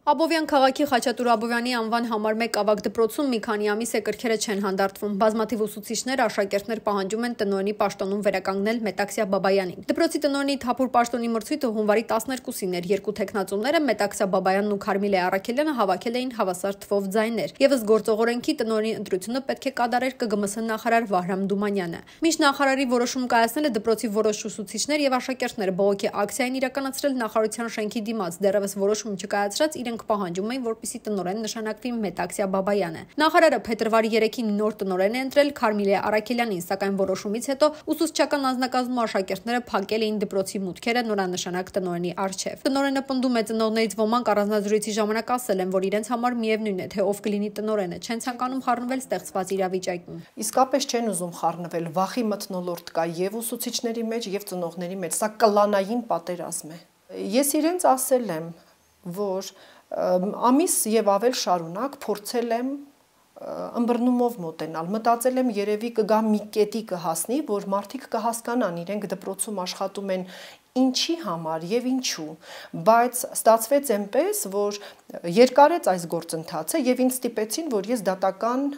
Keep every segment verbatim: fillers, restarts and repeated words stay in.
Աբովյան քաղաքի Խաչատուր Աբովյանի անվան համար մեկ ավագ դպրոցում մի քանի ամիս է կրքերը չեն հանդարտվում։ Բազմաթիվ ուսուցիչներ, աշակերտներ պահանջում են տնօրենի պաշտոնում վերականգնել Մետաքսյա Բաբայանին։ Դպրոցի տնօրենի թափուր պաշտոնի մրցույթը հունվարի տասներկուսին էր։ Երկու թեկնածուները Մետաքսյա Բաբայանն ու Քարմիլե Առաքելյանը հավաքել էին հավասար թվով ձայներ։ Եվս գործողորենքի տնօրենի ընտրությունը պետք է կատարեր Կ Գ M S նախարար Վահրամ Դումանյանը։ Մինչ նախարարի որոշում կայացնելը դպրոցի որոշ ուսուցիչներ եւ աշակերտները բողոքի ակցիա են իրականացրել նախարարության շենքի դիմաց։ Դեռևս որոշում չկայացրած իրենք պահանջում էին, որպեսզի տնօրեն նշանակվի Մետաքսյա Բաբայանը։ Նախարարը փետրվարի երեքին նոր տնօրեն է ընտրել Քարմիլե Առաքելյանին, սակայն որոշումից հետո ուսուցչական անձնակազմում աշակերտները փակել էին դպրոցի մուտքերը նորանշանակ տնօրենի առջև։ Տնօրենը պնդում է, ծնողներից ոմանք առանձնազրույցի ժամանակ ասել են, որ իրենց համար միևնույն է, թե ով կլինի տնօրենը, չեն ցանկանում խառնվել ստեղծված իրավիճակին։ Իսկապես չեն ուզում խառնվել, վախի մթնոլորտ կա եւ ուսուցիչների մեջ եւ ծնողների մեջ, սա կլանային պատերազմ է։ Ես իրենց ասել եմ, որ ամիս եւ ավել շարունակ փորձել եմ ըմբռնումով մոտենալ, մտածել եմ երևի կգա մի կետի կհասնի, որ մարդիկ կհասկանան իրենք դպրոցում աշխատում են ինչի համար եւ ինչու, բայց ստացվեց այնպես, որ երկարեց այս գործընթացը եւ ինձ ստիպեցին, որ ես դատական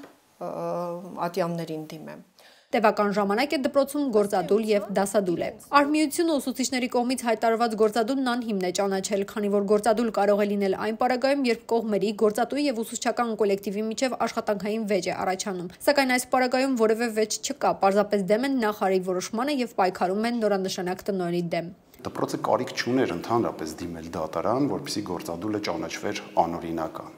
ատյամներին դիմեմ։ Տևական ժամանակ է դպրոցում գործադուլ եւ դասադուլ է։ Արհմիությունը ուսուցիչների կողմից հայտարարված գործադուլն անհիմն է ճանաչել, քանի որ գործադուլ կարող է լինել այն պարագայում, երբ կողմերի գործատուի եւ ուսուցչական կոլեկտիվի միջև աշխատանքային վեճ է առաջանում։ Սակայն այս պարագայում որևէ վեճ չկա, պարզապես դեմ են նախարարի որոշմանը եւ պայքարում են նորանշանակ տնօրենի դեմ։ Դպրոցը կարիք չուներ ընդհանրապես դիմել դատարան, որպեսզի գործադուլը ճանաչվեր անօրինական։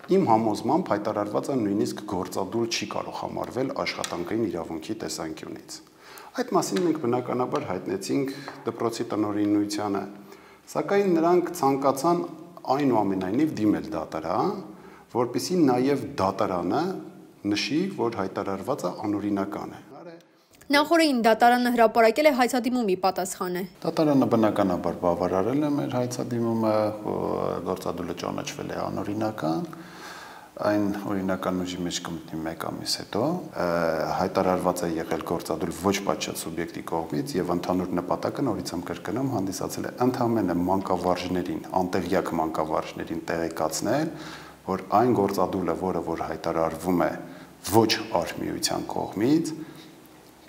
Իմ համոզմամբ հայտարարվածը նույնիսկ գործադուլ չի կարող համարվել աշխատանքային իրավունքի տեսանկյունից։ Այդ մասին մենք բնականաբար հայտնեցինք դպրոցի տնօրինությանը, սակայն նրանք ցանկացան այնուամենայնիվ դիմել դատարան, որպեսզի նաև դատարանը նշի, որ հայտարարվածը անօրինական է։ Նախորդին դատարանը հրապարակել է հայցադիմումի պատասխանը։ Դատարանը բնականաբար բավարարել է մեր հայցադիմումը, գործադուլը ճանաչվել է անօրինական, այն օրինական ուժի մեջ կմտնի մեկ ամիս հետո, հայտարարված է եղել գործադուլ ոչ պատշաճ սուբյեկտի կողմից եւ ընդհանուր նպատակը նորից եմ կրկնում հանդիսացել է ընդհանրապես մանկավարժներին, անտեղյակ մանկավարժներին տեղեկացնել, որ այն գործադուլը, որը որ հայտարարվում է ոչ արհմիության կողմից,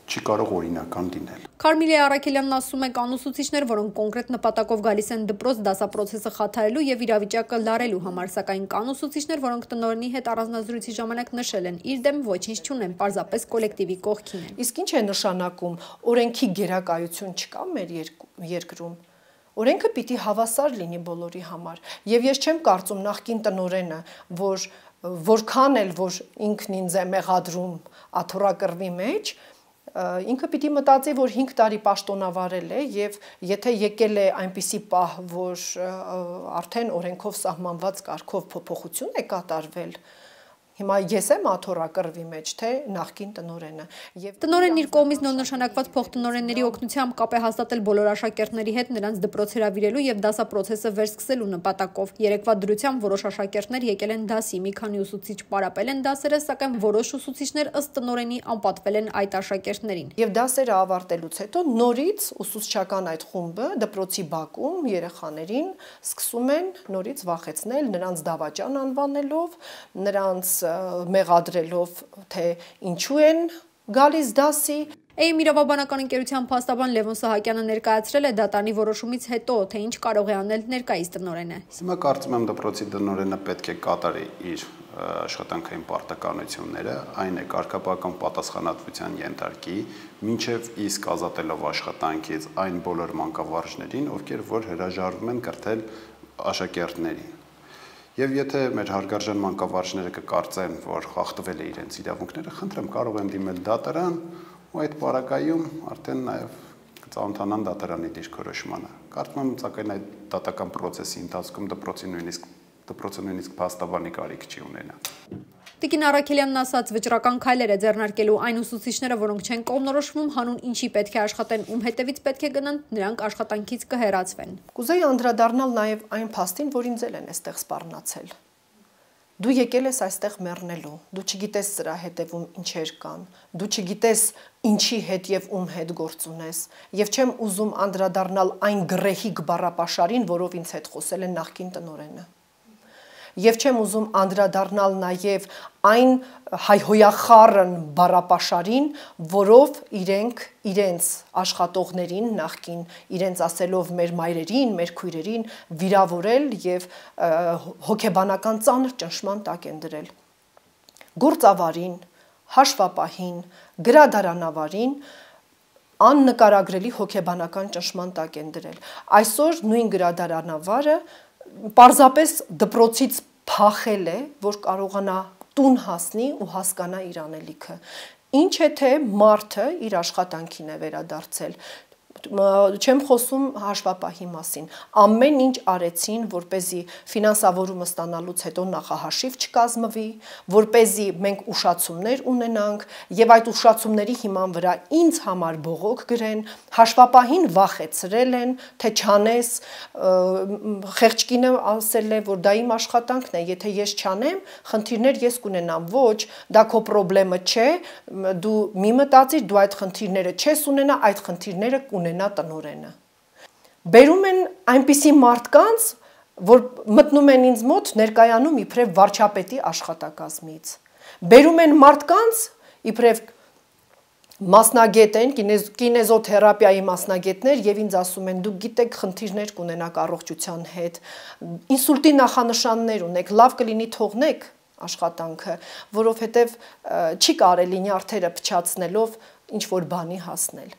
չի կարող օրինական լինել։ Քարմիլե Առաքելյանն ասում է, կան ուսուցիչներ, որոնք կոնկրետ նպատակով գալիս են դպրոց դասապրոցեսը խաթարելու եւ իրավիճակը լարելու համար, սակայն կան ուսուցիչներ, որոնք տնօրենի հետ առանձնազրույցի ժամանակ նշել են, իր դեմ ոչինչ չունեն, պարզապես կոլեկտիվի կողքին են։ Իսկ ինչ է նշանակում, օրենքի գերակայություն չկա մեր երկրում։ Օրենքը պիտի հավասար լինի բոլորի համար։ Եվ ես չեմ կարծում նախկին տնօրենը, որ որքան էլ որ ինքն ինձ է մեղադրում աթոռակռվի մեջ, ինքը պիտի մտածի, որ հինգ տարի պաշտոնավարել է եւ եթե եկել է այնպիսի պահ, որ արդեն օրենքով սահմանված կարգով փոփոխություն է կատարվել, հիմա ես եմ աթոռակռվի մեջ, թե նախկին տնօրենը։ Եվ տնօրենն իր կողմից նորնշանակված փոխտնօրենների օգնությամբ կապ է հաստատել բոլոր աշակերտների հետ նրանց դպրոց հրավիրելու եւ դասապրոցեսը վերսկսելու նպատակով։ Երեկվա դրությամբ որոշ աշակերտներ եկել են դասի, մի քանի ուսուցիչ պարապել են դասերը, սակայն որոշ ուսուցիչներ ըստ տնօրենի անպատվել են այդ աշակերտներին։ Եվ դասերը ավարտելուց հետո նորից ուսուցչական այդ խումբը դպրոցի բակում երեխաներին սկսում են նորից վախեցնել, նրանց դավաճան անվանելով, նրանց մեղադրելով, թե ինչու են գալիս դասի։ Էյմ իրավաբանական ընկերության փաստաբան Լևոն Սահակյանը ներկայացրել է դատարանի որոշումից հետո, թե ինչ կարող է անել ներկայիս տնօրենը։ Հիմա կարծում եմ դպրոցի տնօրենը պետք է կատարի իր աշխատանքային պարտականությունները, այն է կարգապահական պատասխանատվության ենթարկի, մինչև իսկ ազատելով աշխատանքից այն բոլոր մանկավարժներին, ովքեր որ հրաժարվում են կրթել աշակերտներին։ Եվ եթե մեր հարգարժան մանկավարժները կկարծեն, որ խախտվել է իրենց իրավունքները, խնդրեմ կարող են դիմել դատարան ու այդ պարագայում արդեն նաև կծանոթանան դատարանի դիրքորոշմանը։ Կարծում եմ, սակայն այդ դատական process-ի ընթացքում դպրոցի նույնիսկ դպրոցը նույնիսկ փաստաբանի կարիք չի ունենա։ Տիկին Առաքելյանն ասաց, վճռական քայլեր է ձեռնարկելու այն ուսուցիչները, որոնք չեն կողմնորոշվում, հանուն ինչի պետք է աշխատեն, ում հետևից պետք է գնան, նրանք աշխատանքից կհեռացվեն։ Կուզեի անդրադառնալ նաև այն փաստին, որ ինձ էլ են այստեղ սպառնացել։ Դու եկել ես այստեղ մեռնելու, դու չգիտես սրա հետևում ինչեր կան, դու չգիտես ինչի հետ եւ ում հետ գործ ունես, եւ չեմ ուզում անդրադառնալ այն գրեհիկ բառապաշարին, որով ինձ հետ խոսել է նախկին տնօրենը։ եւ չեմ ուզում անդրադառնալ նաեւ այն հայհոյախառն բառապաշարին, որով իրենք իրենց աշխատողներին նախքին իրենց ասելով մեր մայրերին, մեր քույրերին վիրավորել եւ հոգեբանական ծանր ճնշման տակ են դրել։ Գործավարին, հաշվապահին, գրադարանավարին աննկարագրելի հոգեբանական ճնշման տակ են դրել։ Այսօր նույն գրադարանավարը պարզապես դպրոցից փախել է, որ կարողանա տուն հասնի ու հասկանա իր անելիքը։ Ինչ է թե մարդը իր աշխատանքին է վերադարձել։ Չեմ խոսում հաշվապահի մասին։ Ամեն ինչ արեցին, որպեսզի ֆինանսավորումը ստանալուց հետո նախահաշիվ չկազմվի, որպեսզի մենք ուշացումներ ունենանք եւ այդ ուշացումների հիման վրա ինձ համար բողոք գրեն, հաշվապահին վախեցրել են, թե չանես, խեղճկինը ասել է, որ դա իմ աշխատանքն է, եթե ես չանեմ, խնդիրներ ես կունենամ, ոչ, դա քո խնդրեմը չէ, դու մի մտածիր, դու այդ խնդիրները չես ունենա, այդ խնդիրները կունենա տնօրենը։ Բերում են այնպիսի մարդկանց, որ մտնում են ինձ մոտ ներկայանում իբրև վարչապետի աշխատակազմից։ Բերում են մարդկանց, իբրև մասնագետ են, կինեզոթերապիայի մասնագետներ եւ ինձ ասում են դուք գիտեք խնդիրներ կունենաք առողջության հետ, ինսուլտի նախանշաններ ունեք, լավ կլինի թողնեք աշխատանքը, որովհետեւ չի կարելի նյարդերը փչացնելով ինչ որ բանի հասնել։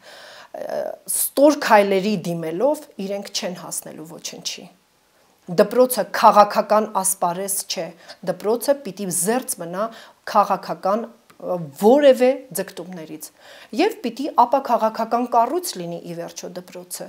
Ստոր քայլերի դիմելով իրենք չեն հասնելու ոչնչի։ Դպրոցը քաղաքական ասպարեզ չէ, դպրոցը պիտի զերծ մնա քաղաքական որևէ ձգտումներից եւ պիտի ապա քաղաքական կառույց լինի ի վերջո դպրոցը։